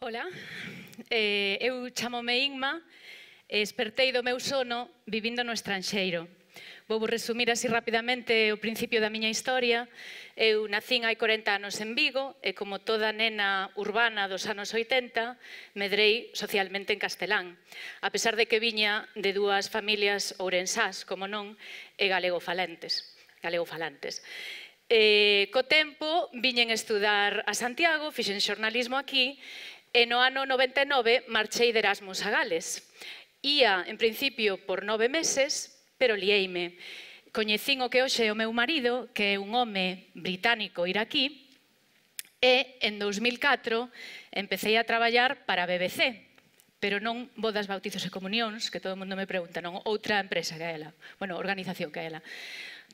Ola, eu chamome Inma e espertei do meu sono vivindo no estranxeiro. Vou resumir así rapidamente o principio da miña historia. Eu nacín hai 40 anos en Vigo e, como toda nena urbana dos anos 80, medrei socialmente en castelán, a pesar de que viña de dúas familias ourensás, como non, e galegofalantes. Co tempo viñen estudar a Santiago, fixen xornalismo aquí, e no ano 99 marchei de Erasmus a Gales. Ía, en principio, por 9 meses, pero liéime. Coñecín o que hoxe é o meu marido, que é un home británico iraquí, e en 2004 empecé a traballar para a BBC, pero non bodas, bautizos e comunións, que todo o mundo me pregunta, non, outra empresa que é ela, bueno, organización que é ela.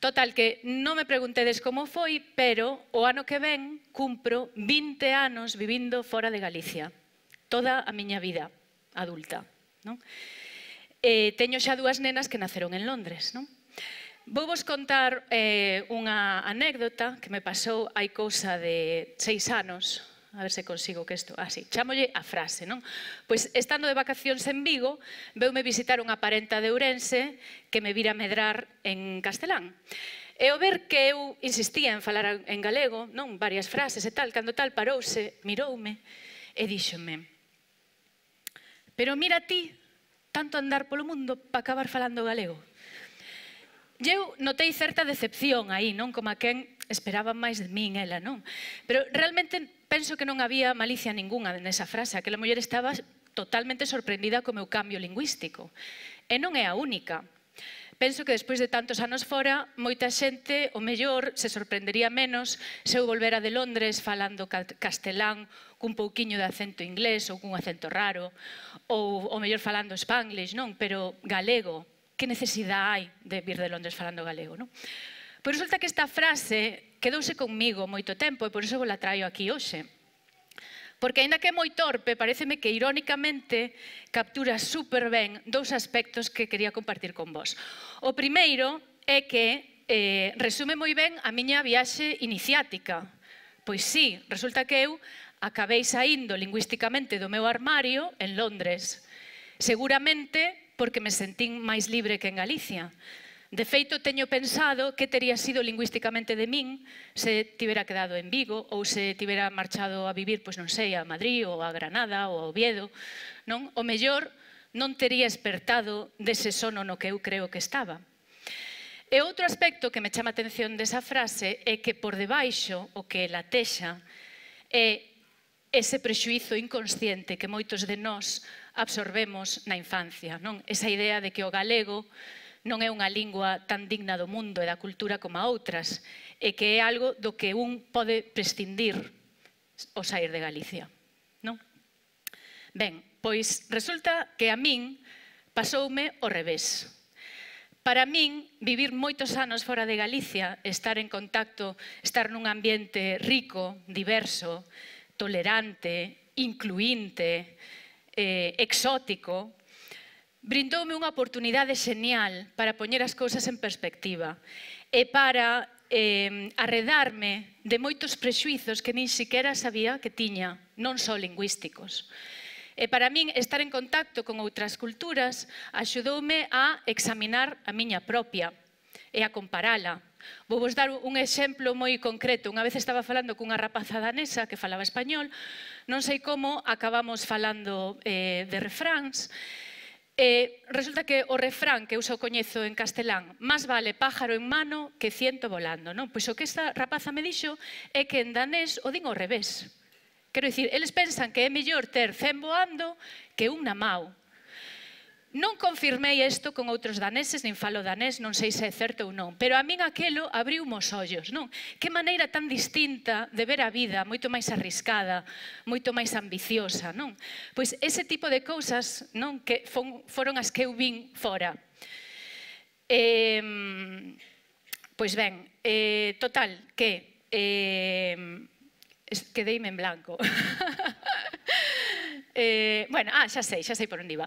Total, que non me preguntedes como foi, pero o ano que ven cumpro 20 anos vivindo fora de Galicia. Toda a miña vida adulta, non? Teño xa dúas nenas que naceron en Londres, non? Vou vos contar unha anécdota que me pasou hai cousa de 6 anos. A ver se consigo que isto... Así, chámolle a frase, non? Pois, estando de vacacións en Vigo, veume visitar unha parenta de Ourense que me vira medrar en castelán. E ao ver que eu insistía en falar en galego, non, varias frases e tal, cando tal parouse, miroume e díxome: "Pero mira ti, tanto andar polo mundo para acabar falando galego." E eu notei certa decepción aí, non? Como a quen esperaba máis de min, ela, non? Pero realmente penso que non había malicia ninguna nesa frase. Aquela muller estaba totalmente sorprendida co meu cambio lingüístico. E non é a única. Penso que despois de tantos anos fora, moita xente, o mellor, se sorprendería menos se eu volvera de Londres falando castelán cun pouquiño de acento inglés ou cun acento raro, ou o mellor falando spanglish, non? Pero galego, que necesidade hai de vir de Londres falando galego, non? Pois resulta que esta frase quedouse conmigo moito tempo e por iso vos la traio aquí hoxe. Porque, aínda que é moi torpe, pareceme que irónicamente captura super ben dous aspectos que quería compartir con vos. O primeiro é que resume moi ben a miña viaxe iniciática. Pois sí, resulta que eu acabei saindo lingüísticamente do meu armario en Londres. Seguramente porque me sentín máis libre que en Galicia. De feito, teño pensado que tería sido lingüísticamente de min se tivera quedado en Vigo ou se tivera marchado a vivir, pois non sei, a Madrid ou a Granada ou a Oviedo, non? O mellor non tería espertado dese sono no que eu creo que estaba. E outro aspecto que me chama a atención desa frase é que por debaixo o que latexa é ese prexuízo inconsciente que moitos de nós absorbemos na infancia, non? Esa idea de que o galego non é unha lingua tan digna do mundo e da cultura como a outras, e que é algo do que un pode prescindir ao sair de Galicia, non? Ben, pois resulta que a min pasoume ao revés. Para min, vivir moitos anos fora de Galicia, estar en contacto, estar nun ambiente rico, diverso, tolerante, incluínte, exótico, brindoume unha oportunidade xenial para poñer as cousas en perspectiva e para arredarme de moitos prexuizos que nin siquiera sabía que tiña, non só lingüísticos. E para min, estar en contacto con outras culturas axudoume a examinar a miña propia e a comparala. Vou vos dar un exemplo moi concreto. Unha vez estaba falando cunha rapaza danesa que falaba español, non sei como acabamos falando de refráns. Resulta que o refrán que eu só coñezo en castelán, "Más vale pájaro en mano que ciento volando", non? Pois o que esta rapaza me dixo é que en danés o din ao revés. Quero dicir, eles pensan que é mellor ter 100 voando que un na mau. Non confirmei isto con outros daneses, nin falo danés, non sei se é certo ou non, pero a min aquelo abriu os ollos, non? Que maneira tan distinta de ver a vida, moito máis arriscada, moito máis ambiciosa, non? Pois ese tipo de cousas, non, que foron as que eu vin fora. Pois ben, total, que quedeime en blanco. Bueno, xa sei por onde iba.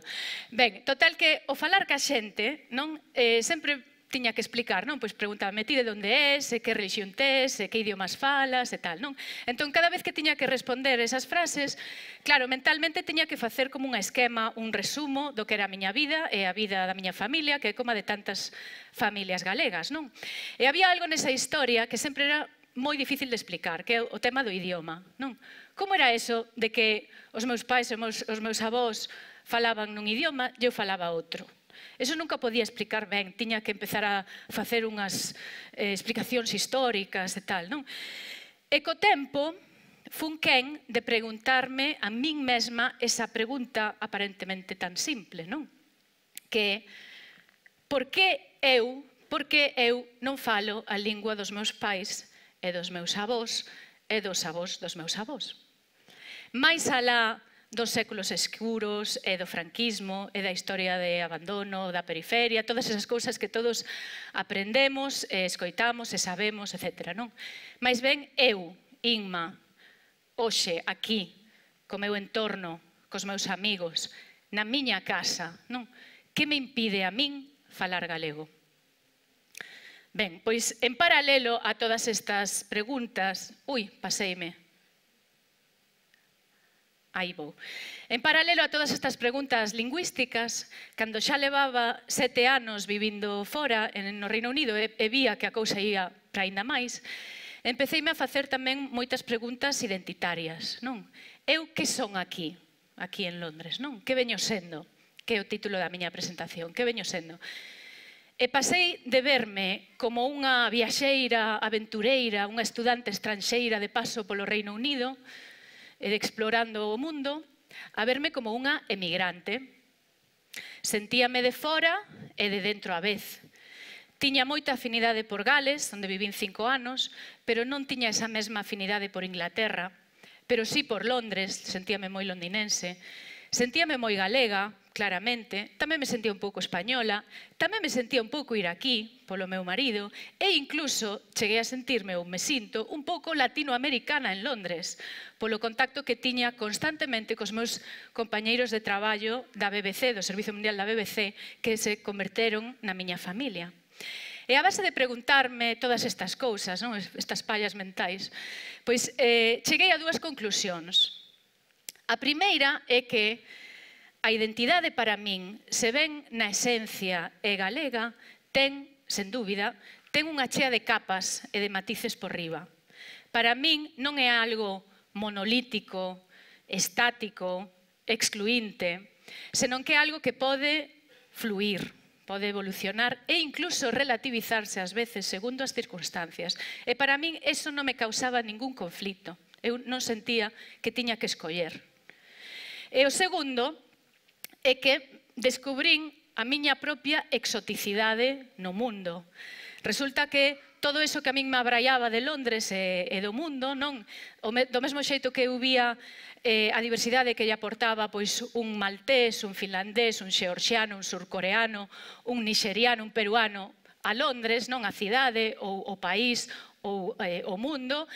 Ben, total que o falar ca xente, non, sempre tiña que explicar, non? Pois preguntábame, ti de onde és, que religión tes, que idiomas falas e tal, non? Entón, cada vez que tiña que responder esas frases, claro, mentalmente tiña que facer como un esquema, un resumo do que era a miña vida e a vida da miña familia, que é como a de tantas familias galegas, non? E había algo nesa historia que sempre era moi difícil de explicar, que é o tema do idioma, non? Como era eso de que os meus pais e os meus avós falaban nun idioma e eu falaba outro? Eso nunca podía explicar ben, tiña que empezar a facer unhas explicacións históricas e tal, non? E co tempo, fun quen de preguntarme a min mesma esa pregunta aparentemente tan simple, non? Que por que eu non falo a lingua dos meus pais e dos meus avós e dos avós dos meus avós? Mais alá dos séculos escuros e do franquismo e da historia de abandono, da periferia, todas esas cousas que todos aprendemos, escoitamos e sabemos, etc. Non? Mais ben, eu, Inma, hoxe, aquí, co meu entorno, cos meus amigos, na miña casa, non? Que me impide a min falar galego? Ben, pois, en paralelo a todas estas preguntas... Ui, paseime. Aí vou. En paralelo a todas estas preguntas lingüísticas, cando xa levaba 7 anos vivindo fora no Reino Unido e vía que a cousa ia para aínda máis, empeceime a facer tamén moitas preguntas identitarias, non? Eu que son aquí en Londres, non? Que veño sendo? Que é o título da miña presentación. Que veño sendo? E pasei de verme como unha viaxeira aventureira, unha estudante estranxeira de paso polo Reino Unido, explorando o mundo, a verme como unha emigrante. Sentíame de fora e de dentro á vez. Tiña moita afinidade por Gales, onde vivín 5 anos, pero non tiña esa mesma afinidade por Inglaterra, pero sí por Londres, sentíame moi londinense, sentíame moi galega, claramente, tamén me sentía un pouco española, tamén me sentía un pouco iraquí, polo meu marido, e incluso cheguei a sentirme, ou me sinto, un pouco latinoamericana en Londres, polo contacto que tiña constantemente cos meus compañeiros de traballo da BBC, do Servicio Mundial da BBC, que se converteron na miña familia. E a base de preguntarme todas estas cousas, non? Estas pallas mentais, pois cheguei a 2 conclusións. A primeira é que a identidade para min, se ven na esencia é galega, ten, sen dúbida, ten unha chea de capas e de matices por riba. Para min non é algo monolítico, estático, excluinte, senón que é algo que pode fluir, pode evolucionar e incluso relativizarse ás veces segundo as circunstancias. E para min eso non me causaba ningún conflito. Eu non sentía que tiña que escoller. E o segundo é que descubrín a miña propia exoticidade no mundo. Resulta que todo eso que a min me abraiaba de Londres e do mundo, non? Do mesmo xeito que eu vía a diversidade que lle aportaba pois un maltés, un finlandés, un xeorxiano, un surcoreano, un nixeriano, un peruano a Londres, non? A cidade, ou o país, ou o mundo,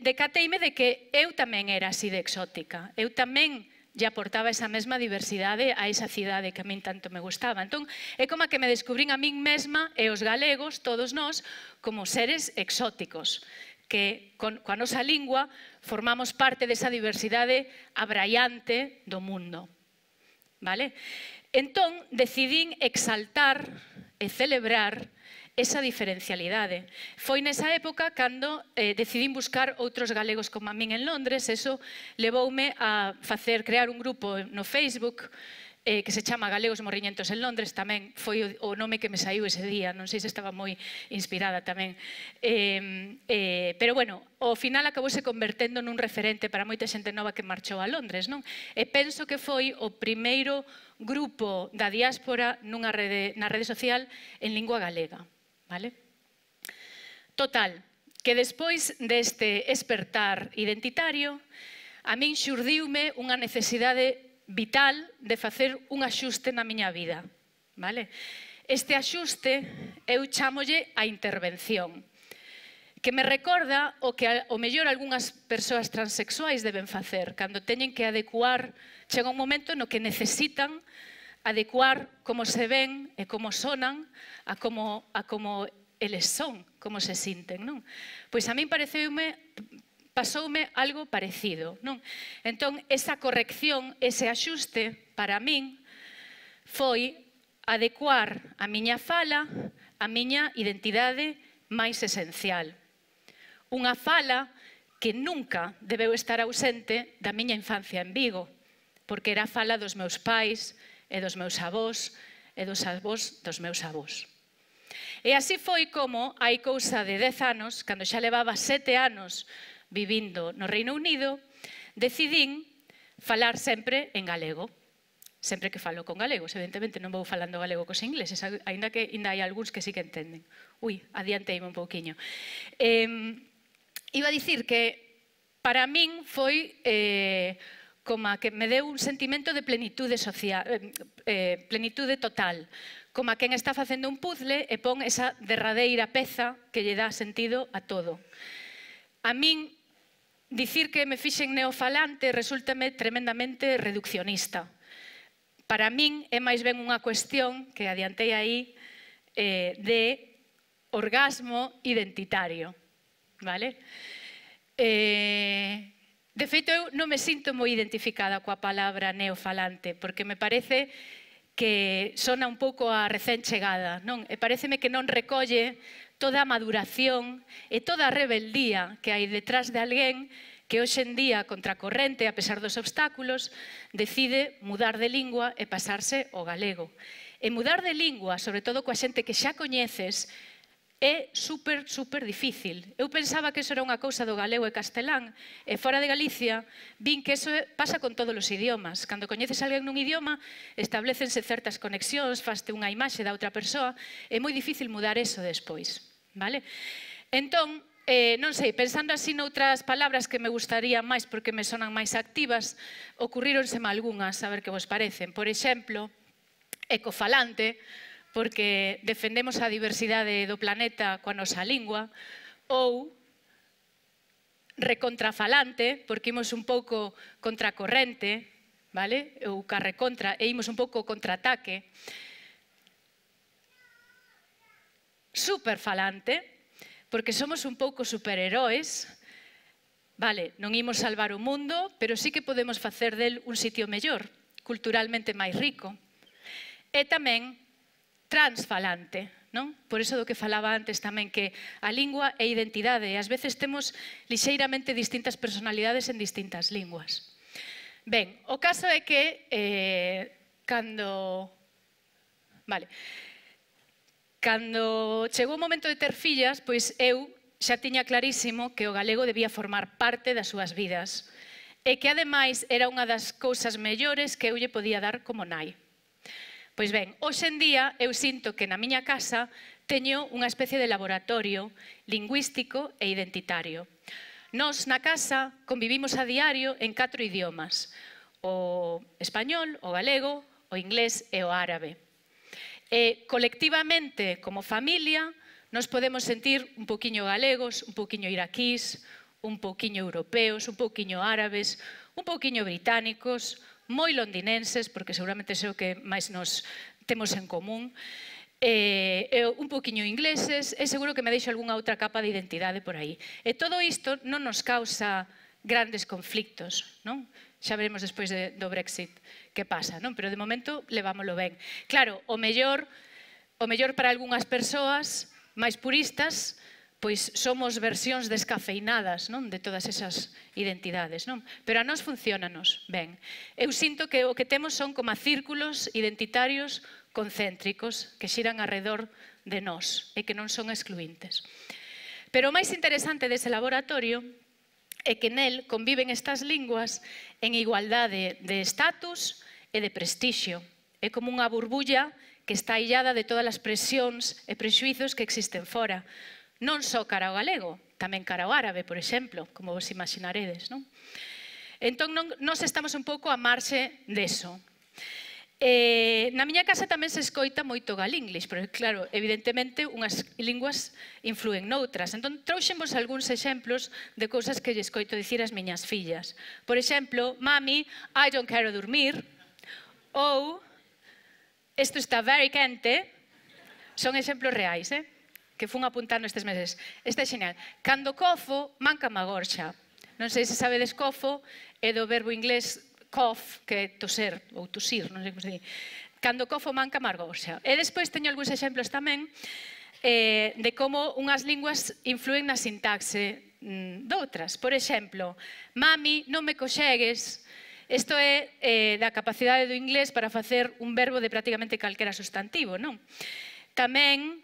decateime de que eu tamén era así de exótica. Eu tamén lle aportaba esa mesma diversidade a esa cidade que a min tanto me gustaba. Entón, é como que me descubrín a min mesma e os galegos, todos nós, como seres exóticos, que coa nosa lingua formamos parte desa diversidade abraiante do mundo. Vale? Entón, decidín exaltar e celebrar esa diferencialidade. Foi nesa época cando decidín buscar outros galegos como a min en Londres. Eso levoume a crear un grupo no Facebook que se chama Galegos Morriñentos en Londres. Tamén foi o nome que me saiu ese día, non sei se estaba moi inspirada tamén. Pero bueno, ao final acabouse convertendo nun referente para moita xente nova que marchou a Londres, non? E penso que foi o primeiro grupo da diáspora na rede social en lingua galega. Vale? Total, que despois deste espertar identitario, a min xurdiume unha necesidade vital de facer un axuste na miña vida. Vale? Este axuste eu chámolle a intervención, que me recorda o que ao mellor algunhas persoas transexuais deben facer cando teñen que adecuar, chega un momento no que necesitan adecuar como se ven e como sonan a como eles son, como se sinten, non? Pois a min pasoume algo parecido, non? Entón, esa corrección, ese axuste, para min, foi adecuar a miña fala á miña identidade máis esencial. Unha fala que nunca debeu estar ausente da miña infancia en Vigo, porque era a fala dos meus pais e dos meus avós e dos avós dos meus avós. E así foi como, hai cousa de 10 anos, cando xa levaba 7 anos vivindo no Reino Unido, decidín falar sempre en galego. Sempre que falo con galegos, evidentemente non vou falando galego cos ingleses, aínda que hai algúns que sí que entenden. Ui, adianteime un pouquiño. Iba a dicir que para min foi como que me deu un sentimento de plenitude social, plenitude total, como a quen está facendo un puzzle e pon esa derradeira peza que lle dá sentido a todo. A min, dicir que me fixen neofalante resúltame tremendamente reduccionista. Para min é máis ben unha cuestión que adiantei aí de orgasmo identitario. Vale? De feito, eu non me sinto moi identificada coa palabra neofalante, porque me parece que sona un pouco a recén chegada, non? E pareceme que non recolle toda a maduración e toda a rebeldía que hai detrás de alguén que hoxe en día, contracorrente, a pesar dos obstáculos, decide mudar de lingua e pasarse ao galego. E mudar de lingua, sobre todo coa xente que xa coñeces, é super difícil. Eu pensaba que eso era unha cousa do galego e castelán, e fora de Galicia vin que eso pasa con todos os idiomas. Cando coñeces a alguén nun idioma, establecense certas conexións, faste unha imaxe da outra persoa, é moi difícil mudar eso despois. Vale? Entón, non sei, pensando así noutras palabras que me gustaría máis porque me sonan máis activas, ocurríronseme algunhas, a ver que vos parecen. Por exemplo, ecofalante, porque defendemos a diversidade do planeta coa nosa lingua, ou recontrafalante, porque imos un pouco contracorrente, vale? Ou carrecontra, e imos un pouco contraataque. Superfalante, porque somos un pouco superheróis, vale, non imos salvar o mundo, pero sí que podemos facer del un sitio mellor, culturalmente máis rico. E tamén transfalante, non? Por iso do que falaba antes tamén, que a lingua é identidade e ás veces temos lixeiramente distintas personalidades en distintas linguas. Ben, o caso é que cando chegou o momento de ter fillas, pois eu xa tiña clarísimo que o galego debía formar parte das súas vidas e que ademais era unha das cousas mellores que eu lle podía dar como nai. Pois ben, hoxe en día eu sinto que na miña casa teño unha especie de laboratorio lingüístico e identitario. Nós na casa convivimos a diario en 4 idiomas: o español, o galego, o inglés e o árabe. E colectivamente, como familia, nos podemos sentir un pouquiño galegos, un pouquiño iraquís, un pouquiño europeos, un pouquiño árabes, un pouquiño británicos, moi londinenses, porque seguramente é o que máis nos temos en común, un pouquiño ingleses, e seguro que me deixo algunha outra capa de identidade por aí. E todo isto non nos causa grandes conflictos, non? Xa veremos despois do Brexit que pasa, non? Pero de momento levámoslo ben. Claro, o mellor para algunhas persoas máis puristas, pois somos versións descafeinadas, non? De todas esas identidades, non? Pero a nós funciónanos ben. Eu sinto que o que temos son como círculos identitarios concéntricos que xiran arredor de nós e que non son excluíntes. Pero o máis interesante dese laboratorio é que nel conviven estas linguas en igualdade de estatus e de prestixio. É como unha burbulla que está illada de todas as presións e prexuizos que existen fora. Non só cara ao galego, tamén cara ao árabe, por exemplo, como vos imaginaredes, non? Entón, nós estamos un pouco a marxe deso. Na miña casa tamén se escoita moito galinglish, pero claro, evidentemente unhas linguas influen noutras. Entón, trouxenvos algúns exemplos de cousas que lle escoito dicir ás miñas fillas. Por exemplo, mami, I don't quero dormir, ou Isto está very quente, son exemplos reais, que fun apuntando estes meses. Este é xeñal. Cando cofo, manca má gorxa. Non sei se sabedes cofo, é do verbo inglés cough, que é toser, ou tosir, non sei como se di. Cando cofo, manca má gorxa. E despois teño algúns exemplos tamén de como unhas linguas influen na sintaxe doutras. Por exemplo, mami, non me coxegues. Isto é da capacidade do inglés para facer un verbo de prácticamente calquera sustantivo, non? Tamén,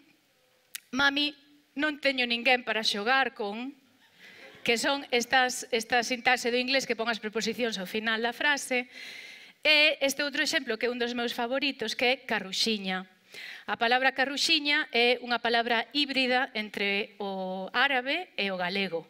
mami, non teño ninguén para xogar con, que son esta sintaxe do inglés que pon as preposicións ao final da frase. E este outro exemplo, que é un dos meus favoritos, que é carruxiña. A palabra carruxiña é unha palabra híbrida entre o árabe e o galego.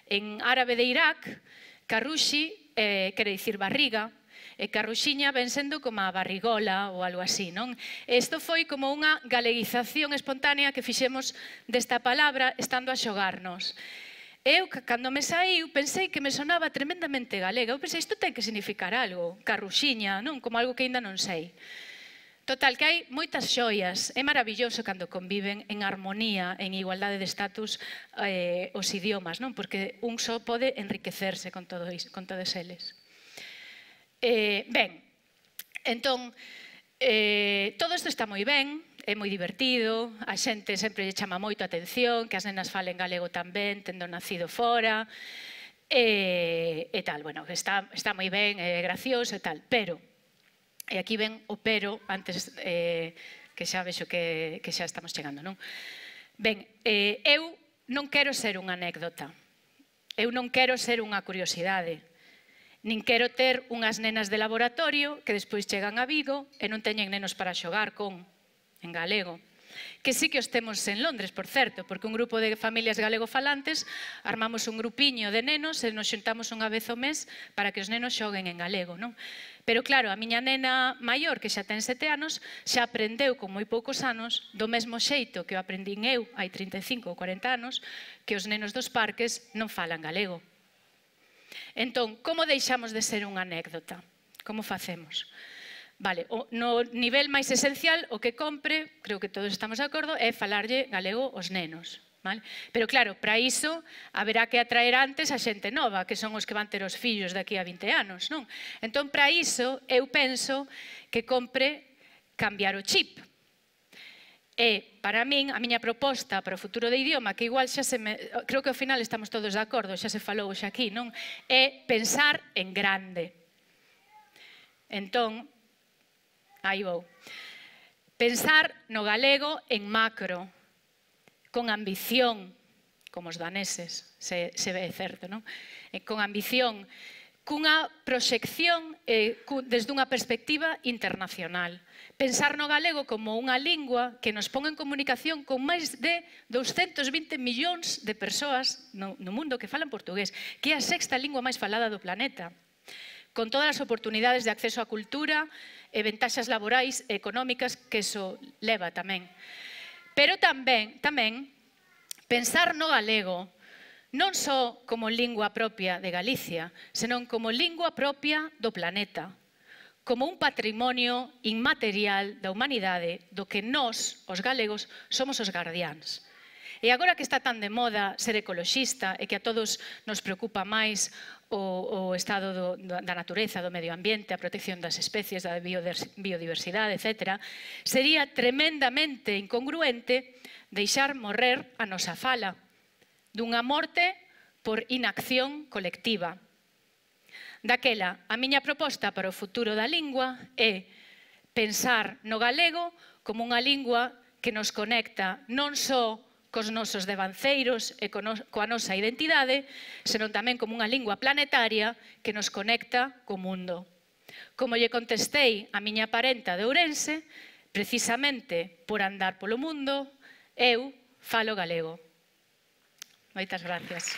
En árabe de Irak, carruxi quere dicir barriga, e carruxiña ven sendo como a barrigola ou algo así, non? Isto foi como unha galeguización espontánea que fixemos desta palabra estando a xogarnos. Eu, cando me saiu, pensei que me sonaba tremendamente galega. Eu pensei, isto ten que significar algo, carruxiña, non? Como algo que ainda non sei. Total, que hai moitas xoias. É maravilloso cando conviven en armonía, en igualdade de estatus os idiomas, non? Porque un só pode enriquecerse con todos eles. Ben, entón, todo isto está moi ben, é moi divertido, a xente sempre lle chama moito a atención, que as nenas falen galego tamén, tendo nacido fora, e tal, bueno, está moi ben, é gracioso e tal, pero, e aquí ven o pero, antes que xa vexo que xa estamos chegando, non? Ben, eu non quero ser unha anécdota, eu non quero ser unha curiosidade, nin quero ter unhas nenas de laboratorio que despois chegan a Vigo e non teñen nenos para xogar con, en galego. Que sí que os temos en Londres, por certo, porque un grupo de familias galegofalantes armamos un grupiño de nenos e nos xuntamos unha vez ao mes para que os nenos xoguen en galego, non? Pero claro, a miña nena maior, que xa ten 7 anos, xa aprendeu con moi poucos anos, do mesmo xeito que o aprendín eu hai 35 ou 40 anos, que os nenos dos parques non falan galego. Entón, como deixamos de ser unha anécdota? Como facemos? Vale, no nivel máis esencial, o que compre, creo que todos estamos de acordo, é falarlle galego aos nenos. Pero claro, para iso haberá que atraer antes a xente nova, que son os que van ter os fillos daqui a 20 anos, non? Entón, para iso, eu penso que compre cambiar o chip. E, para min, a miña proposta para o futuro de idioma, que igual xa se me... Creo que ao final estamos todos de acordo, xa se falou xa aquí, non? É pensar en grande. Entón, aí vou. Pensar no galego en macro, con ambición, como os daneses, se ve certo, non? Con ambición, cunha proxección desde unha perspectiva internacional. Pensar no galego como unha lingua que nos pon en comunicación con máis de 220 millóns de persoas no mundo que falan portugués, que é a sexta lingua máis falada do planeta, con todas as oportunidades de acceso á cultura e ventaxas laborais e económicas que iso leva tamén. Pero tamén pensar no galego non só como lingua propia de Galicia, senón como lingua propia do planeta, como un patrimonio inmaterial da humanidade do que nós, os galegos, somos os gardiáns. E agora que está tan de moda ser ecoloxista e que a todos nos preocupa máis o estado da natureza, do medio ambiente, a protección das especies, da biodiversidade, etc., sería tremendamente incongruente deixar morrer a nosa fala dunha morte por inacción colectiva. Daquela, a miña proposta para o futuro da lingua é pensar no galego como unha lingua que nos conecta non só cos nosos devanceiros e coa nosa identidade, senón tamén como unha lingua planetaria que nos conecta co mundo. Como lle contestei a miña parenta de Ourense, precisamente por andar polo mundo, eu falo galego. Moitas gracias.